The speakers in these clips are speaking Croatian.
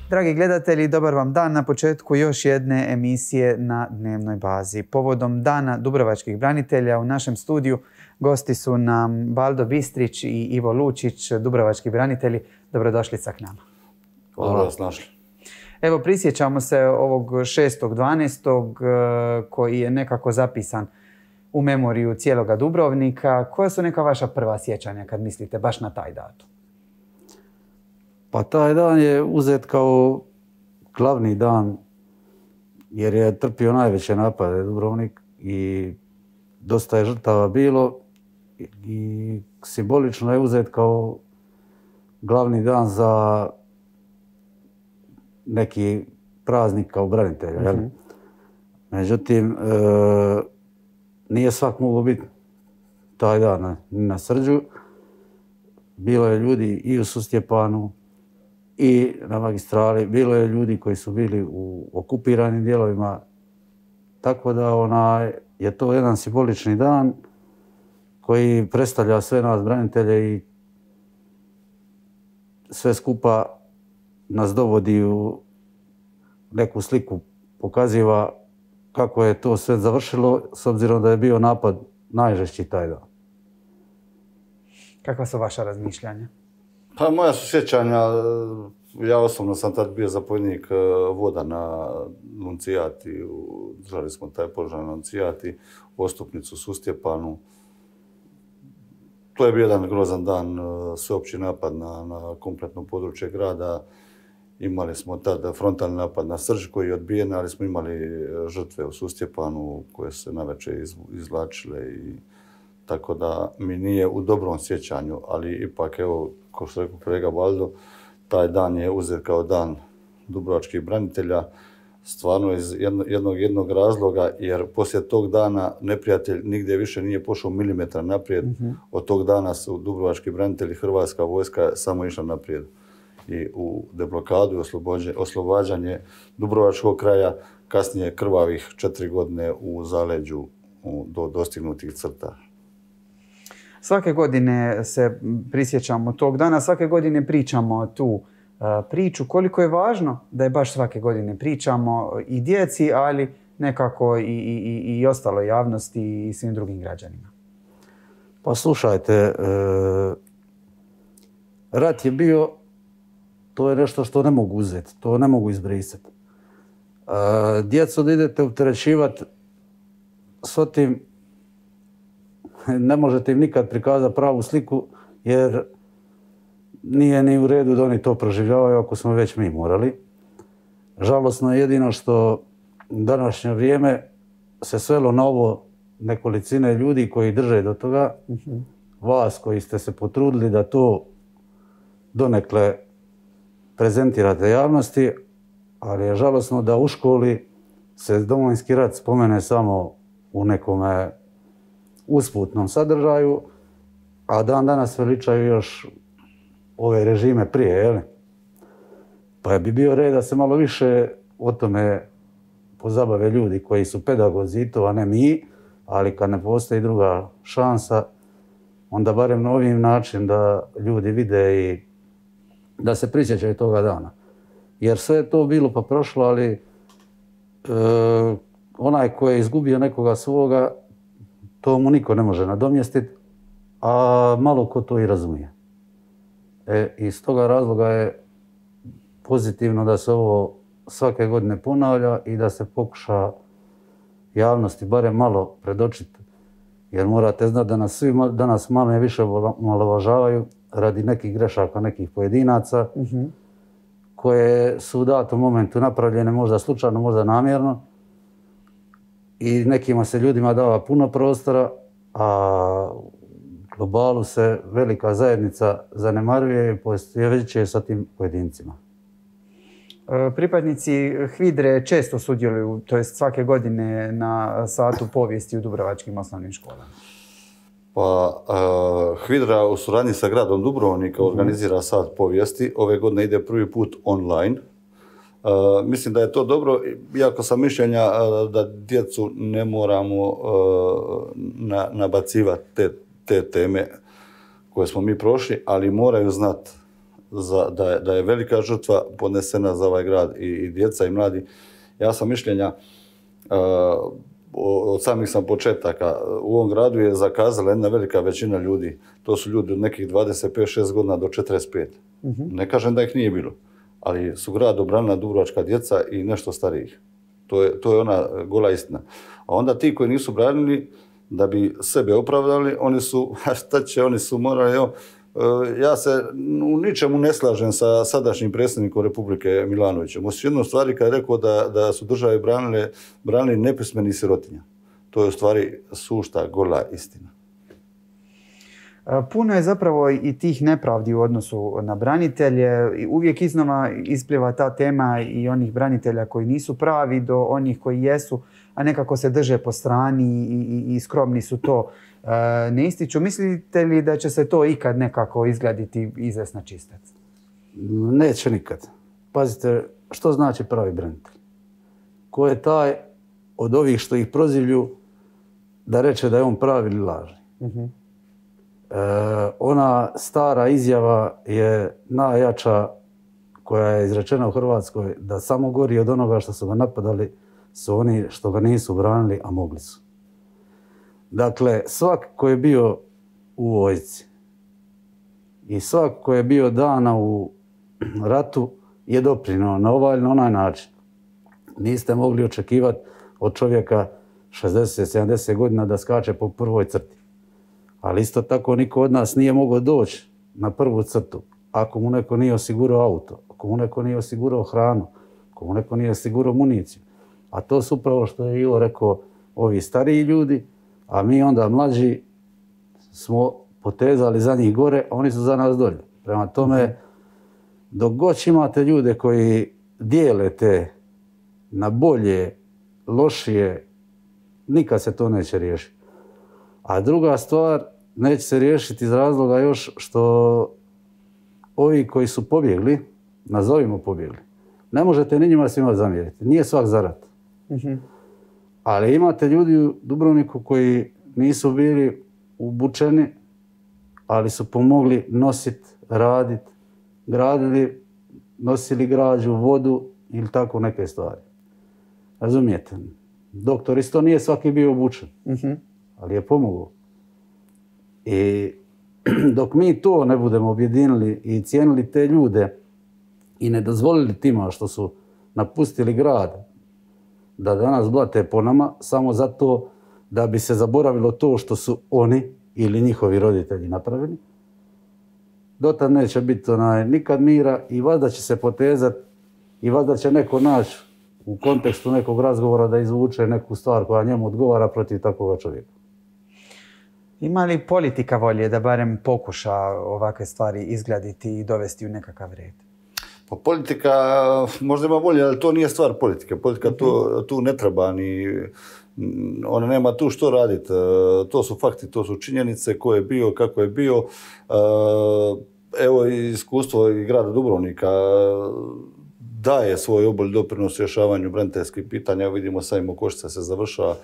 Dragi gledatelji, dobar vam dan na početku još jedne emisije na dnevnoj bazi. Povodom Dana dubrovačkih branitelja u našem studiju gosti su nam Baldo Bistrić i Ivo Lučić, dubrovački branitelji. Dobrodošli k nama. Hvala vas našli. Evo, prisjećamo se ovog 6.12. koji je nekako zapisan u memoriju cijeloga Dubrovnika. Koja su neka vaša prva sjećanja kad mislite baš na taj datum? Pa taj dan je uzet kao glavni dan jer je trpio najveće napade Dubrovnik i dosta je žrtava bilo i simbolično je uzet kao glavni dan za neki praznik kao branitelja. Međutim, nije svak mogao biti taj dan na Srđu. Bilo je ljudi i u Sustjepanu i na magistrali, bilo je ljudi koji su bili u okupiranim dijelovima, tako da je to jedan simbolični dan koji predstavlja sve nas branitelje i sve skupa nas dovodi u neku sliku, pokaziva kako je to sve završilo s obzirom da je bio napad najžešći taj dan. Kakva su vaša razmišljanja? Pa moja su sjećanja, ja osobno sam tad bio zapovjednik voda na Nuncijati, držali smo taj požar na Nuncijati, Ostupnicu, Sustjepanu. To je bio jedan grozan dan, sveopći napad na kompletno područje grada. Imali smo tada frontalni napad na Srđ koji je odbijen, ali smo imali žrtve u Sustjepanu koje se navečer izvlačile i tako da mi nije u dobrom sjećanju, ali ipak, evo, kao što rekao kolega Baldo, taj dan je uzet kao dan dubrovačkih branitelja, stvarno iz jednog razloga, jer poslije tog dana neprijatelj nigdje više nije pošao milimetra naprijed. Od tog dana su dubrovački branitelji, Hrvatska vojska samo išla naprijed. I u deblokadu i oslobađanje Dubrovačkog kraja, kasnije krvavih 4 godine u zaleđu do dostignutih crta. Svake godine se prisjećamo tog dana, svake godine pričamo tu priču. Koliko je važno da je baš svake godine pričamo i djeci, ali nekako i ostaloj javnosti i svim drugim građanima? Pa slušajte, rat je bio, to je nešto što ne mogu uzeti, to ne mogu izbrisati. Djecu da idete opterećivati s tim, ne možete im nikad prikazati pravu sliku, jer nije ni u redu da oni to proživljavaju ako smo već mi morali. Žalosno je jedino što u današnje vrijeme se svelo na ovo nekolicine ljudi koji drže do toga, vas koji ste se potrudili da to donekle prezentirate javnosti, ali je žalosno da u školi se Domovinski rat spomene samo u nekome usputnom sadržaju, a dan danas veličaju još ove režime prije, jel? Pa bi bio red da se malo više o tome pozabave ljudi koji su pedagozi i to, a ne mi, ali kad ne postoji druga šansa, onda barem na ovim način da ljudi vide i da se prisjećaju toga dana. Jer sve je to bilo pa prošlo, ali onaj koji je izgubio nekoga svoga, to mu niko ne može nadomjestiti, a malo ko to i razumije. Iz toga razloga je pozitivno da se ovo svake godine ponavlja i da se pokuša javnosti barem malo predočiti. Jer morate znati da nas svi danas malo i više omalovažavaju radi nekih grešaka, nekih pojedinaca, koje su u datom momentu napravljene možda slučajno, možda namjerno. I nekima se ljudima dava puno prostora, a u globalu se velika zajednica zanemaruje i poistovjećuje sa tim pojedincima. Pripadnici HVIDRE često sudjeluju, to jest svake godine, na satu povijesti u dubrovačkim osnovnim školama. Pa, HVIDRA u suradnji sa gradom Dubrovnika organizira sat povijesti. Ove godine ide prvi put online. Mislim da je to dobro, iako sam mišljenja da djecu ne moramo nabacivati te teme koje smo mi prošli, ali moraju znati da je velika žrtva podnesena za ovaj grad i djeca i mladi. Ja sam mišljenja, od samih sam početaka, u ovom gradu je zakazala jedna velika većina ljudi. To su ljudi od nekih 25-6 godina do 45. Ne kažem da ih nije bilo, ali su grad obranila dubrovačka djeca i nešto starijih. To je ona gola istina. A onda ti koji nisu branili, da bi sebe opravdali, oni su morali, ja se u ničemu ne slažem sa sadašnjim predsjednikom Republike Milanovićem. Osim jednu stvari kad je rekao da su države branili nepismeni sirotinja. To je u stvari sušta, gola istina. Puno je zapravo i tih nepravdi u odnosu na branitelje. Uvijek iznova ispliva ta tema i onih branitelja koji nisu pravi do onih koji jesu, a nekako se drže po strani i skromni su to ne ističu. Mislite li da će se to ikad nekako izgladiti izvest na čistac? Neće nikad. Pazite, što znači pravi branitelj? Ko je taj od ovih što ih prozivlju da reče da je on pravi ili lažni? Ona stara izjava je najjača koja je izrečena u Hrvatskoj, da samo gori od onoga što su ga napadali su oni što ga nisu branili, a mogli su. Dakle, svak ko je bio u vojsci i svak ko je bio dana u ratu je doprinio na ovaj ili na onaj način. Niste mogli očekivati od čovjeka 60-70 godina da skače po prvoj crti. Ali isto tako niko od nas nije mogao doći na prvu crtu ako mu neko nije osigurao auto, ako mu neko nije osigurao hranu, ako mu neko nije osigurao municiju. A to su upravo što je Ivo rekao, ovi stariji ljudi, a mi onda mlađi smo potezali za njih gore, a oni su za nas dolje. Prema tome, dok god imate ljude koji dijele te na bolje, lošije, nikad se to neće riješiti. A druga stvar, neće se riješiti iz razloga još što ovi koji su pobjegli, nazovimo pobjegli, ne možete ni njima svima zamjeriti. Nije svak za rat. Ali imate ljudi u Dubrovniku koji nisu bili obučeni, ali su pomogli nositi, raditi, gradili, nosili građu, vodu ili tako neke stvari. Razumijete? Doktor isto nije svaki bio obučen, ali je pomogao. I dok mi to ne budemo objedinili i cijenili te ljude i ne dozvolili tima što su napustili grad da danas blate po nama samo zato da bi se zaboravilo to što su oni ili njihovi roditelji napravili, dotad neće biti nikad mira i valjda će se potezati i valjda će neko naći u kontekstu nekog razgovora da izvuče neku stvar koja njemu odgovara protiv takvoga čovjeka. Ima li politika volje da barem pokuša ovakve stvari izgladiti i dovesti u nekakav red? Pa politika možda ima volje, ali to nije stvar politike. Politika tu ne treba ni... Ona nema tu što raditi. To su fakti, to su činjenice, ko je bio, kako je bio. Evo iskustvo i grada Dubrovnika daje svoj obol doprinos rješavanju braniteljskih pitanja. Vidimo sajmo Košica se završava,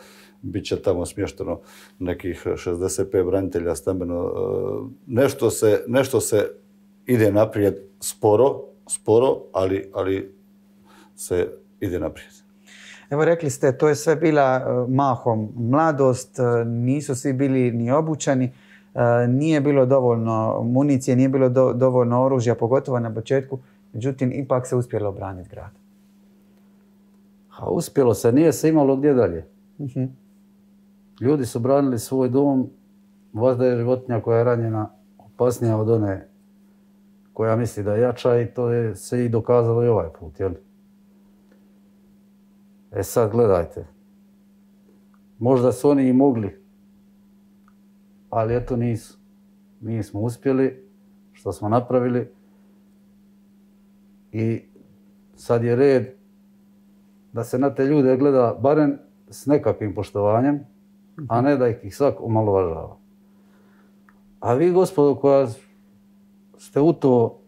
bit će tamo smješteno nekih 65 branitelja stambeno. Nešto se ide naprijed sporo, ali se ide naprijed. Evo rekli ste, to je sve bila mahom mladost, nisu svi bili ni obučeni, nije bilo dovoljno municije, nije bilo dovoljno oružja, pogotovo na početku, međutim ipak se uspjelo obraniti grad. A uspjelo se, nije se imalo gdje dalje. Ljudi su branili svoj dom, možda je životinja koja je ranjena opasnija od one koja misli da je jača i to je se i dokazalo i ovaj put, jel? E sad gledajte, možda su oni i mogli, ali eto nisu. Mi smo uspjeli, što smo napravili i sad je red da se na te ljude gleda barem s nekakvim poštovanjem, a ne da ih svak omalovažava. A vi, gospodo, koja ste u to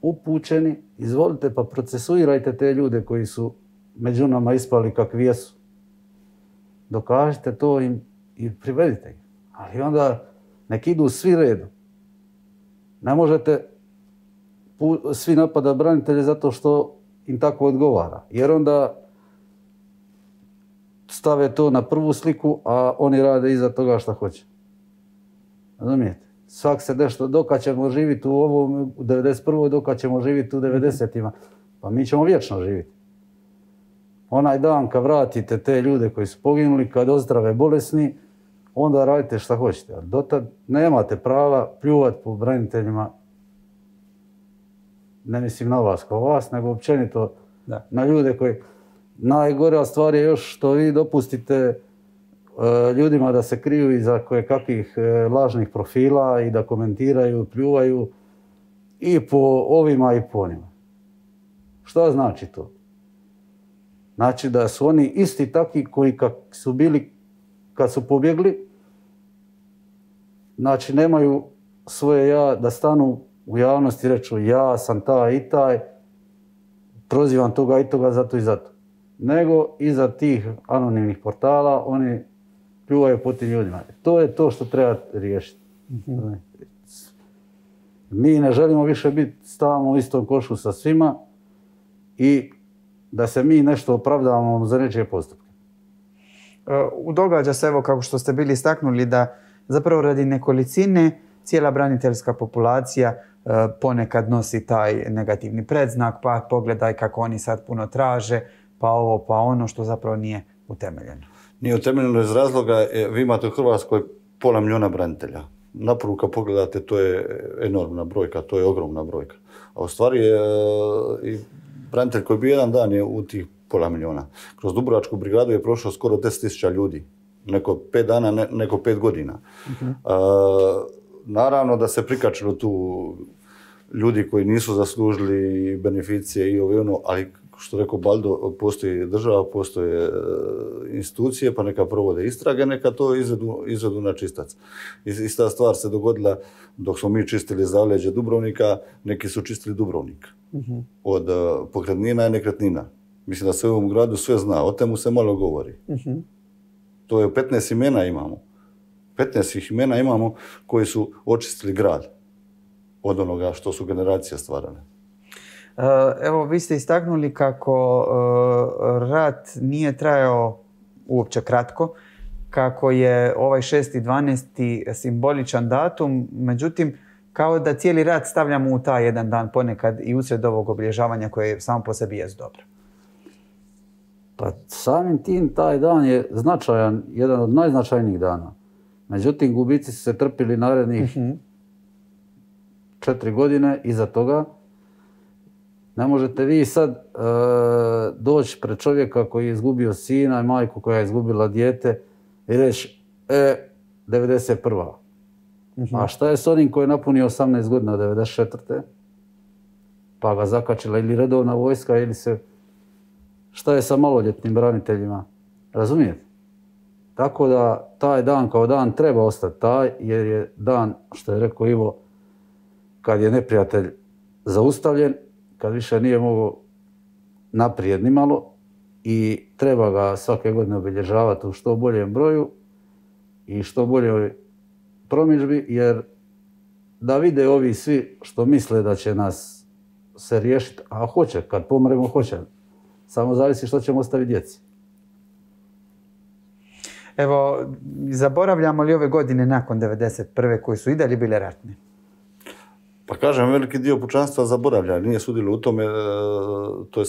upućeni, izvolite pa procesuirajte te ljude koji su među nama ispali kakvi jesu. Dokažite to im i privedite ih. Ali onda nek idu svi redom. Ne možete svi napada branitelje zato što im tako odgovara. Jer onda stave to na prvu sliku, a oni rade iza toga što hoće. Razumijete? Svak se nešto, dokad ćemo živjeti u ovom, u 91. dokad ćemo živjeti u 90-ima. Pa mi ćemo vječno živjeti. Onaj dan kad vratite te ljude koji su poginuli, kad ozdrave bolesni, onda radite šta hoćete. Ali dotad nemate prava pljuvati po braniteljima. Ne mislim na vas kao vas, nego općenito na ljude koji... Najgora stvar je još što vi dopustite ljudima da se kriju iza kakvih lažnih profila i da komentiraju, pljuvaju i po ovima i po onima. Šta znači to? Znači da su oni isti takvi koji su bili kad su pobjegli, znači nemaju svoje ja da stanu u javnosti i reču ja sam taj i taj, prozivam toga i toga zato i zato. Nego iza tih anonimnih portala oni pljuvaju po tim ljudima. To je to što treba riješiti. Mi ne želimo više biti stalno u istom košu sa svima i da se mi nešto opravdavamo za nečije postupke. Događa se, evo kako što ste bili istaknuli, da zapravo radi nekolicine cijela braniteljska populacija ponekad nosi taj negativni predznak, pa pogledaj kako oni sad puno traže, pa ovo, pa ono, što zapravo nije utemeljeno. Nije utemeljeno iz razloga, vi imate u Hrvatskoj 500 000 branitelja. Napravo kad pogledate, to je enormna brojka, to je ogromna brojka. A u stvari i branitelj koji bi jedan dan je u tih 500 000. Kroz Dubrovačku brigadu je prošlo skoro 10.000 ljudi. Neko 5 dana, neko 5 godina. Naravno da se prikačilo tu ljudi koji nisu zaslužili beneficije i ono, ali što rekao Baldo, postoji država, postoje institucije, pa neka provode istrage, neka to izvedu na čistac. Ista stvar se dogodila dok smo mi čistili zaleđe Dubrovnika, neki su čistili Dubrovnik. Od pokretnina i nekretnina. Mislim da se u ovom gradu sve zna, o temu se malo govori. To je 15 imena imamo. 15 imena imamo koji su očistili grad od onoga što su generacije stvarale. Evo, vi ste istaknuli kako rat nije trajao uopće kratko, kako je ovaj 6.12. simboličan datum, međutim, kao da cijeli rat stavljamo u taj jedan dan ponekad i usred ovog obilježavanja koje samo po sebi jest dobro. Pa samim tim taj dan je značajan, jedan od najznačajnijih dana. Međutim, gubici su se trpili narednih 4 godine iza toga. Ne možete vi sad doći pred čovjeka koji je izgubio sina i majku koja je izgubila dijete i reći 91. A šta je s onim koji je napunio 18 godina 94. pa ga zakačila ili redovna vojska ili se... Šta je sa maloljetnim braniteljima? Razumijete? Tako da taj dan kao dan treba ostati taj, jer je dan, što je rekao Ivo, kad je neprijatelj zaustavljen, kad više nije mogao naprijed ni malo i treba ga svake godine obilježavati u što boljem broju i što boljoj promidžbi, jer da vide ovi svi što misle da će nas se riješiti, a hoće, kad pomremo hoće. Samo zavisi što ćemo ostaviti djeci. Evo, zaboravljamo li ove godine nakon 91. koji su i dalje bile ratne? Pa kažem, veliki dio pučanstva zaboravlja, nije sudilo u tome, to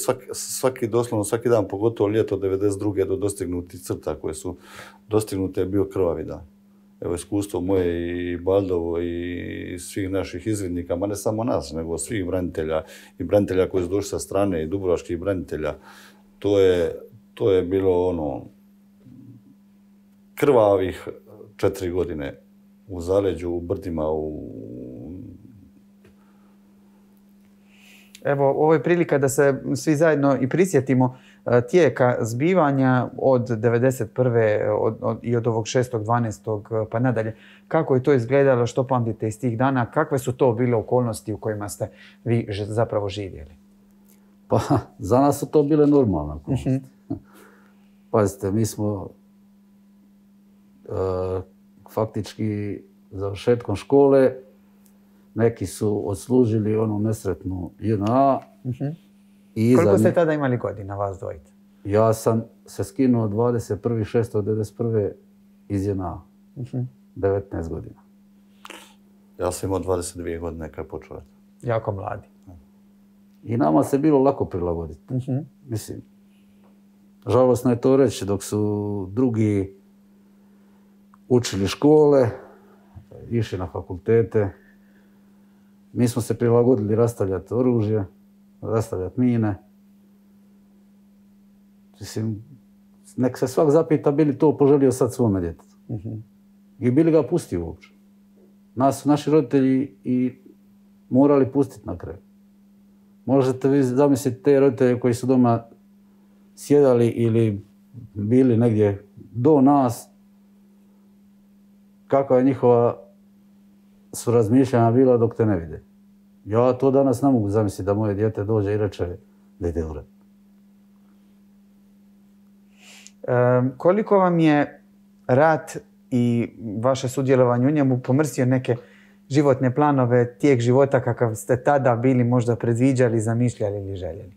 je doslovno svaki dan, pogotovo ljeto 92. do dostignutih crta koje su dostignute je bio krvavi dan. Evo, iskustvo moje i Baldovo i svih naših izvidnika, ma ne samo nas, nego svih branitelja i branitelja koji su došli sa strane i dubrovačkih branitelja, to je bilo ono krvavih 4 godine u zaleđu, u brdima, Evo, ovo je prilika da se svi zajedno i prisjetimo tijeka zbivanja od 91. i od ovog 6.12. pa nadalje. Kako je to izgledalo, što pamtite iz tih dana, kakve su to bile okolnosti u kojima ste vi zapravo živjeli? Pa, za nas su to bile normalne okolnosti. Pazite, mi smo faktički završetkom škole neki su odslužili onu nesretnu JNA. Koliko ste tada imali godina, vas dvojice? Ja sam se skinuo 21.6.1991. iz JNA. 19 godina. Ja sam imao 22 godine kad je počeo. Jako mladi. I nama se bilo lako prilagoditi. Mislim, žalosno je to reći, dok su drugi učili škole, išli na fakultete, mi smo se prilagodili rastavljati oružje, rastavljati mine. Mislim, nek se svak zapita bi li to poželio sad svome djetetu. I bili ga pustio uopće. Nas su naši roditelji i morali pustiti na kraju. Možete vi zamisliti te roditelje koji su doma sjedali ili bili negdje do nas, kakva je njihova su razmišljanja bila dok te ne vide. Ja to danas ne mogu zamisliti da moje dijete dođe i reče da ide u rat. Koliko vam je rat i vaše sudjelovanje u njemu pomrsio neke životne planove, tijek života kakav ste tada bili možda predviđali, zamišljali ili željeli?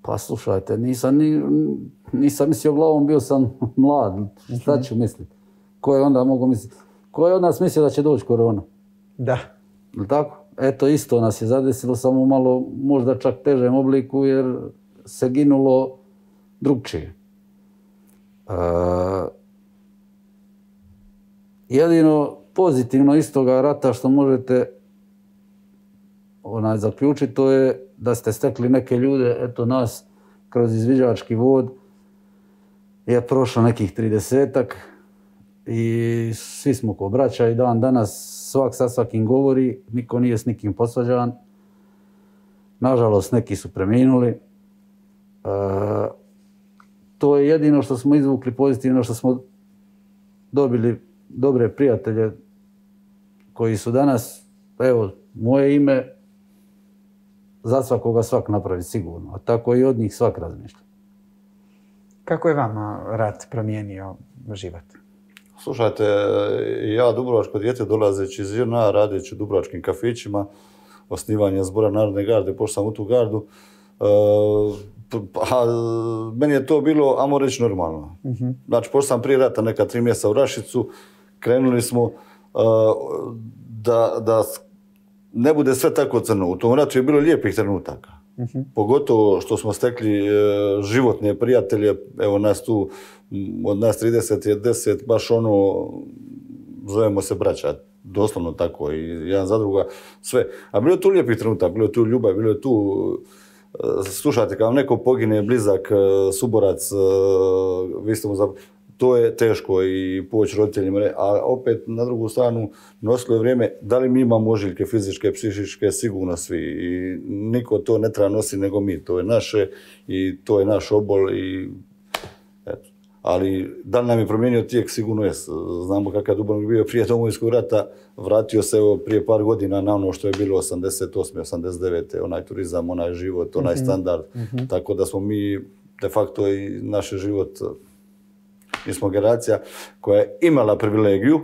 Pa slušajte, nisam mislio glavom, bio sam mlad, šta ću misliti? Ko je onda mogao misliti? Ko je od nas mislio da će doći korona? Da. Tako? Eto, isto nas je zadesilo, samo malo možda čak težem obliku jer se ginulo drugčije. Jedino pozitivno iz toga rata što možete zaključiti, to je da ste stekli neke ljude, eto nas, kroz izviđački vod je prošlo nekih 30-ak i svi smo ko braća i dan danas svak sa svakim govori, niko nije s nikim posvađan. Nažalost, neki su preminuli. To je jedino što smo izvukli pozitivno, što smo dobili dobre prijatelje koji su danas, evo, moje ime, za svakoga svak napravi sigurno, a tako i od njih svak razmišlja. Kako je vama rat promijenio život? Slušajte, ja dubrovačko dijete dolazeći iz JNA, radeći u dubrovačkim kafićima, osnivanje zbora Narodne garde, pošto sam u tu gardu, meni je to bilo, ajmo reći, normalno. Znači, pošto sam prije rata neka 3 mjeseca u Rašicu, krenuli smo da ne bude sve tako crno. U tom ratu je bilo lijepih trenutaka. Pogotovo što smo stekli životne prijatelje, evo nas tu, od nas 30 je 10, baš ono, zovemo se braća, doslovno tako, i jedan za druga, sve. A bilo je tu lijepih trenutaka, bilo je tu ljubav, bilo je tu, slušajte, kad vam neko pogine, blizak, suborac, vi ste mu to je teško i poći roditeljima, a opet na drugu stranu nosilo je vrijeme, da li mi imamo ožiljke fizičke, psihičke, sigurno svi i niko to ne treba nositi nego mi, to je naše i to je naš obol i eto. Ali da li nam je promijenio tijek, sigurno je. Znamo kakav Dubrovnik bio prije Domovinskog rata, vratio se prije par godina na ono što je bilo 88. 89. onaj turizam, onaj život, onaj standard, tako da smo mi de facto i naš život. Mi smo generacija koja je imala privilegiju,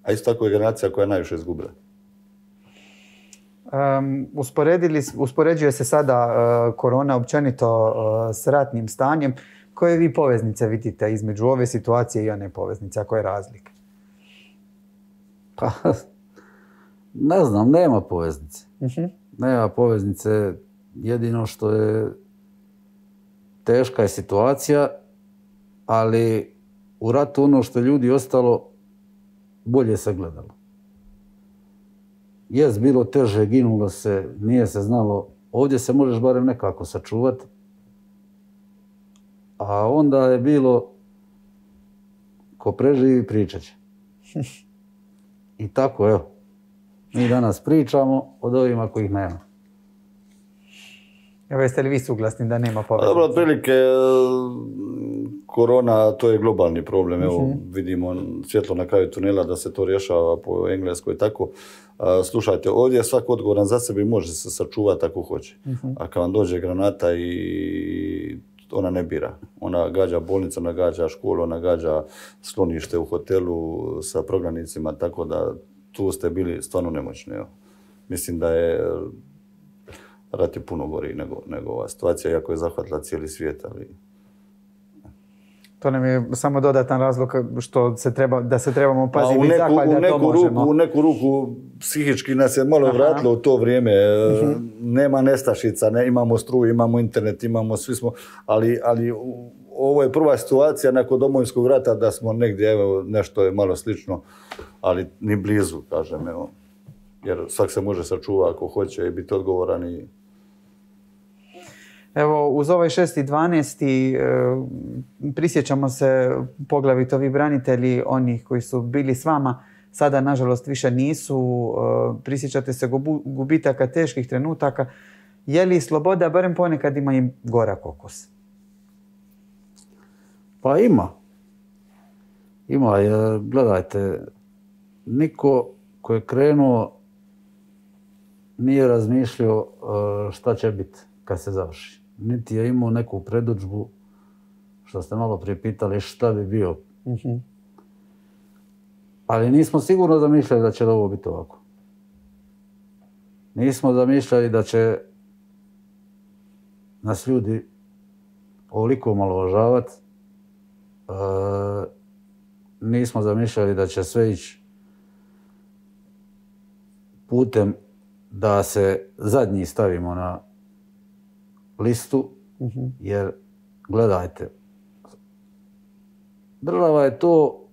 a isto tako je generacija koja je najviše izgubila. Uspoređuje se sada korona općenito s ratnim stanjem. Koje vi poveznice vidite između ove situacije i one poveznice? A koje je razlike? Pa, ne znam, nema poveznice. Nema poveznice. Jedino što je teška je situacija, ali u ratu ono što je ljudi ostalo, bolje se gledalo. Jest bilo teže, ginulo se, nije se znalo. Ovdje se možeš barem nekako sačuvati. A onda je bilo ko preživi pričat će. I tako, evo. Mi danas pričamo od ovima kojih nema. Evo, jeste li vi suglasni da nema poveznice? Dobro, otprilike korona, to je globalni problem. Evo, vidimo svjetlo na kraju tunela da se to rješava po Engleskoj i tako. Slušajte, ovdje je svak odgovoran za sebe i može se sačuvati ako hoće. A kad vam dođe granata i ona ne bira. Ona gađa bolnicu, ona gađa školu, ona gađa sklonište u hotelu sa prognanicima, tako da tu ste bili stvarno nemoćni. Evo. Mislim da je rat je puno gori nego ova situacija, iako je zahvatila cijeli svijet, ali... To nam je samo dodatan razlog da se trebamo paziti i zahvaliti da to možemo. U neku ruku psihički nas je malo vratilo u to vrijeme. Nema nestašica, imamo struju, imamo internet, svi smo, ali ovo je prva situacija nakon Domovinskog rata da smo negdje, evo, nešto je malo slično, ali ni blizu, kažem, evo. Jer svak se može sačuvati ako hoće i biti odgovoran i... Evo, uz ovaj 6.12. Prisjećamo se poglavito vi branitelji, onih koji su bili s vama, sada nažalost više nisu. Prisjećate se gubitaka, teških trenutaka. Je li sloboda barem ponekad ima i gorak okus? Pa ima. Ima, jer gledajte, niko ko je krenuo nije razmišljao šta će biti kad se završi. Niti je imao neku predodžbu, što ste malo prije pitali šta bi bio. Ali nismo sigurno zamišljali da će ovo biti ovako. Nismo zamišljali da će nas ljudi ovoliko omalovažavati. Nismo zamišljali da će sve ići putem da se zadnji stavimo na listu, jer gledajte, država je to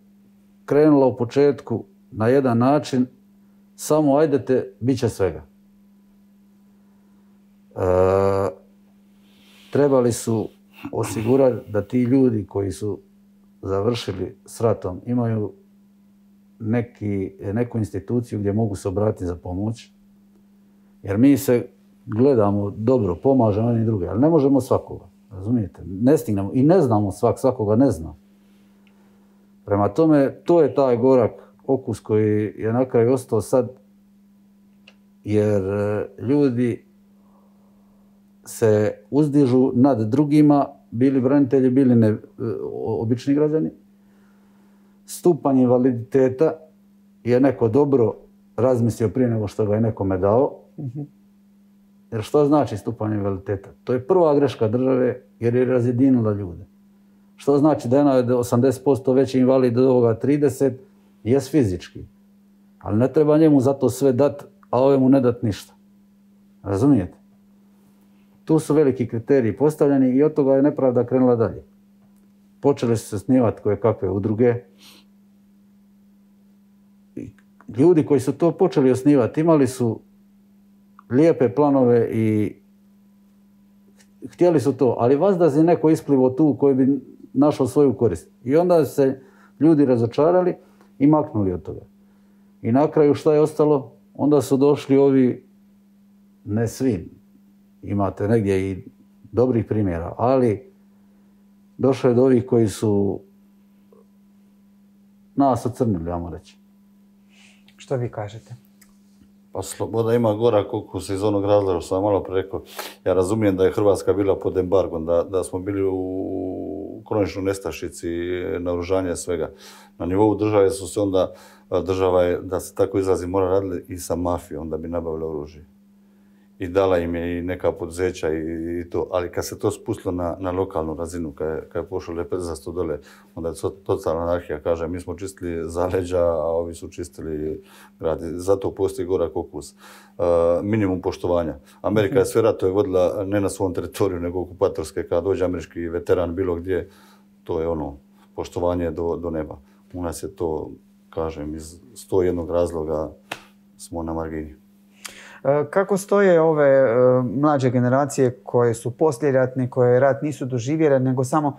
krenula u početku na jedan način, samo ajdete, bit će svega. Trebali su osigurati da ti ljudi koji su završili s ratom imaju neku instituciju gdje mogu se obratiti za pomoć, jer mi se gledamo dobro, pomažemo jedni drugi, ali ne možemo svakoga, razumijete? Ne stignemo i ne znamo svakoga ne zna. Prema tome, to je taj gorak okus koji je na kraju ostao sad, jer ljudi se uzdižu nad drugima, bili branitelji, bili obični građani. Stupanj invaliditeta je neko dobro razmislio prije nego što ga je nekome dao. Jer što znači stupanj invaliditeta? To je prva greška države jer je razjedinila ljude. Što znači da je 80% veći invalid od ovoga 30, jest fizički. Ali ne treba njemu zato sve dat, a ovemu ne dat ništa. Razumijete? Tu su veliki kriteriji postavljeni i od toga je nepravda krenula dalje. Počeli su se osnivati koje kakve udruge. Ljudi koji su to počeli osnivati imali su lijepe planove i htjeli su to, ali vazda je neko isplivo tu koji bi našao svoju korist. I onda se ljudi razočarali i maknuli od toga. I na kraju šta je ostalo? Onda su došli ovi, ne svi, imate negdje i dobrih primjera, ali došlo je do ovih koji su nas ocrnili, ajmo reći. Što vi kažete? Pa sloboda ima gorak okus iz onog razloga što sam malo pre rekao. Ja razumijem da je Hrvatska bila pod embargom, da smo bili u kroničnoj nestašici, naoružanja svega. Na nivou države su se onda, država je, da se tako izrazi, mora radili i sa mafijom da bi nabavili oružje. I dala im je i neka poduzeća i to, ali kad se to spustilo na lokalnu razinu, kad je pošlo lepezasto dole, onda je totalna anarhija, kaže, mi smo čistili zaleđa, a ovi su čistili grad. Zato postoji gorak okus. Minimum poštovanja. Amerika je sve ratove vodila ne na svom teritoriju, nego okupatorske, kad dođe američki veteran bilo gdje, to je ono, poštovanje do neba. U nas je to, kažem, iz 101 razloga smo na margini. Kako stoje ove mlađe generacije koje su poslijeratne, koje rat nisu doživjele, nego samo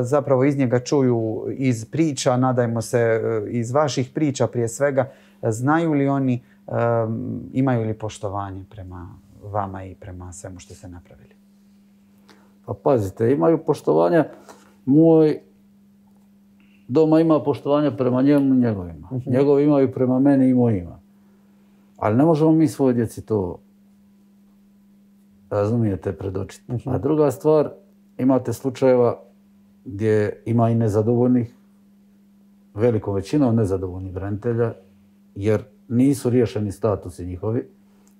zapravo iz njega čuju iz priča, nadajmo se iz vaših priča prije svega, znaju li oni, imaju li poštovanje prema vama i prema svemu što ste napravili? Pa pazite, imaju poštovanja. Moj doma ima poštovanja prema njemu i njegovima. Njegovi imaju prema meni i mojima. Ali ne možemo mi svojoj djeci to, razumijete, predočiti. A druga stvar, imate slučajeva gdje ima i nezadovoljnih, velikom većinom nezadovoljnih branitelja, jer nisu riješeni statusi njihovi,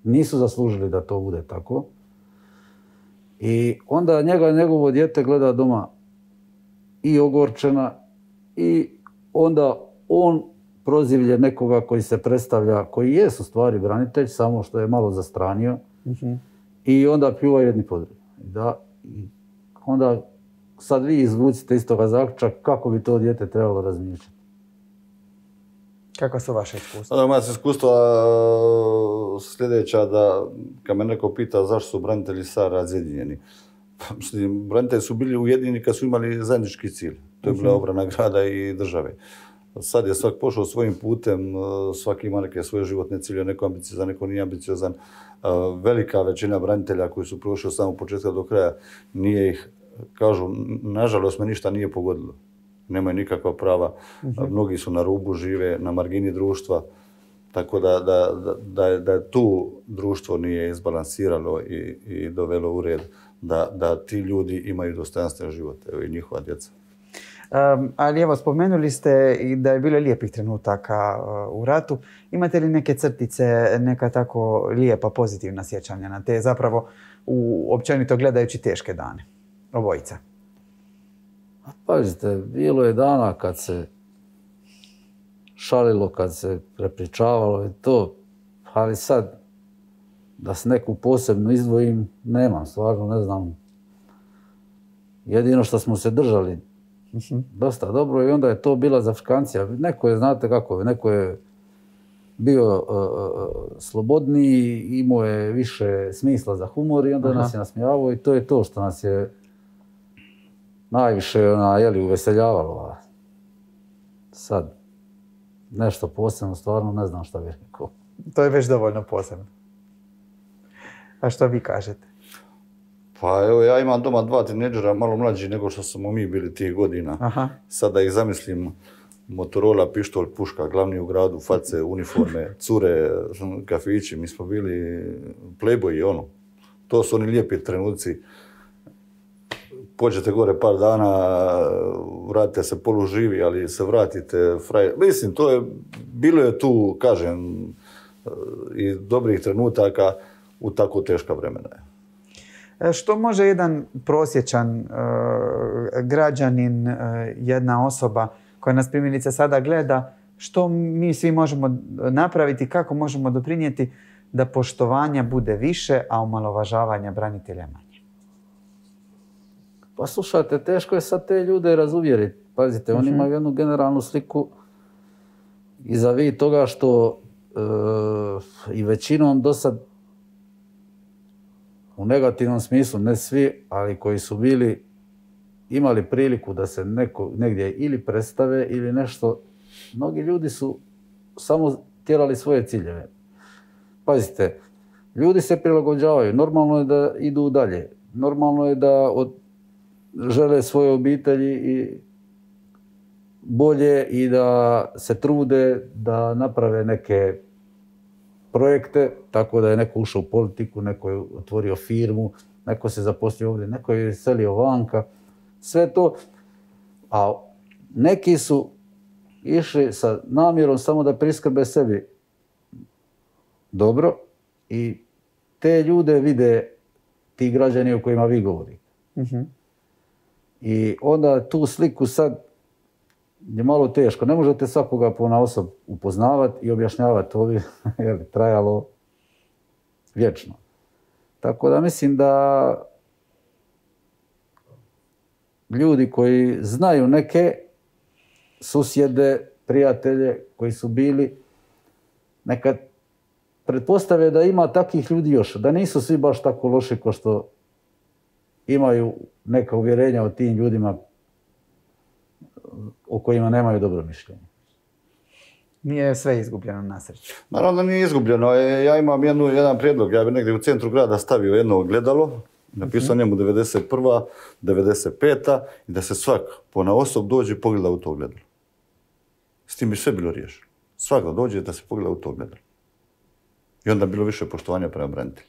nisu zaslužili da to bude tako. I onda njega njegovo dijete gleda doma i ogorčena i onda on prozivlje nekoga koji se predstavlja, koji jest u stvari branitelj, samo što je malo zastranio. I onda pljuva jedni po drugi. I onda sad vi izvucite iz toga zaključak kako bi to dijete trebalo razmišljati. Kako su vaše iskustva? Moja iskustva sljedeća da kad me neko pita zašto su branitelji sad razjedinjeni. Branitelji su bili ujedinjeni kad su imali zajednički cilj. To je bila obrana grada i države. Sad je svak pošao svojim putem, svaki ima neke svoje životne cilje, neko ambiciozan, neko nije ambiciozan. Velika većina branitelja koji su prošli od samog početka do kraja nije ih, kažu, nažalost me ništa nije pogodilo. Nemaju nikakva prava. Mnogi su na rubu, žive na margini društva. Tako da tu društvo nije izbalansiralo i dovelo u red da ti ljudi imaju dostojanstven život, evo i njihova djeca. Ali evo, spomenuli ste i da je bilo lijepih trenutaka u ratu. Imate li neke crtice, neka tako lijepa, pozitivna sjećanja na te zapravo općenito gledajući teške dane? Obojica. Pazite, bilo je dana kad se šalilo, kad se prepričavalo i to, ali sad da se neku posebno izdvojim, nemam, stvarno ne znam. Jedino što smo se držali dosta dobro i onda je to bila zafrikancija. Neko je, znate kako, neko je bio slobodniji, imao je više smisla za humor i onda nas je nasmijavao i to je to što nas je najviše uveseljavalo. Sad, nešto posebno, stvarno ne znam šta bih rekao. To je već dovoljno posebno. A što vi kažete? Pa evo, ja imam doma 2 tinejdžera, malo mlađi nego što smo mi bili tih godina. Sad da ih zamislim, Motorola, pištolj, puška, glavni u gradu, face, uniforme, cure, kafići, mi smo bili playboyi, ono. To su oni lijepi trenuci. Pođete gore par dana, vratite se poluživi, ali se vratite frajer. Mislim, bilo je tu, kažem, i dobrih trenutaka u tako teška vremena. Što može jedan prosječan građanin, jedna osoba koja nas primjerice sada gleda, što mi svi možemo napraviti, kako možemo doprinijeti da poštovanja bude više, a omalovažavanja branitelja manje? Pa slušajte, teško je sad te ljude razuvjeriti. Pazite, oni imaju jednu generalnu sliku iza toga što i većinom do sad, u negativnom smislu, ne svi, ali koji su imali priliku da se negdje ili predstave ili nešto, mnogi ljudi su samo tjerali svoje ciljeve. Pazite, ljudi se prilagođavaju, normalno je da idu dalje, normalno je da žele svoje obitelji i bolje i da se trude da naprave neke projekte, tako da je neko ušao u politiku, neko je otvorio firmu, neko se zaposlio ovdje, neko je selio vanka, sve to. A neki su išli sa namjerom samo da priskrbe sebi dobro i te ljude vide ti građani o kojima vi govorite. I onda tu sliku sad je malo teško. Ne možete svakoga ponaosob upoznavati i objašnjavati. To bi trajalo vječno. Tako da mislim da ljudi koji znaju neke susjede, prijatelje koji su bili, nekad pretpostave da ima takvih ljudi još, da nisu svi baš tako loši kao što imaju neka uvjerenja o tim ljudima o kojima nemaju dobro mišljenje. Nije sve izgubljeno na sreću. Naravno da nije izgubljeno. Ja imam jedan prijedlog. Ja bi negdje u centru grada stavio jedno ogledalo, napisao njemu 91. 95. i da se svak ponaosob dođe i pogleda u to ogledalo. S tim bi sve bilo riješeno. Svak dođe da se pogleda u to ogledalo. I onda bilo više poštovanja prema branitelju.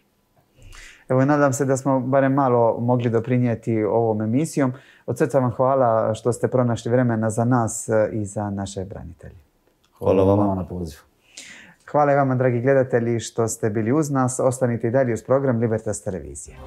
Evo, nadam se da smo barem malo mogli doprinijeti ovom emisijom. Od srca vam hvala što ste pronašli vremena za nas i za naše branitelje. Hvala vama na pozivu. Hvala i vama, dragi gledatelji, što ste bili uz nas. Ostanite i dalje uz program Libertas televizije.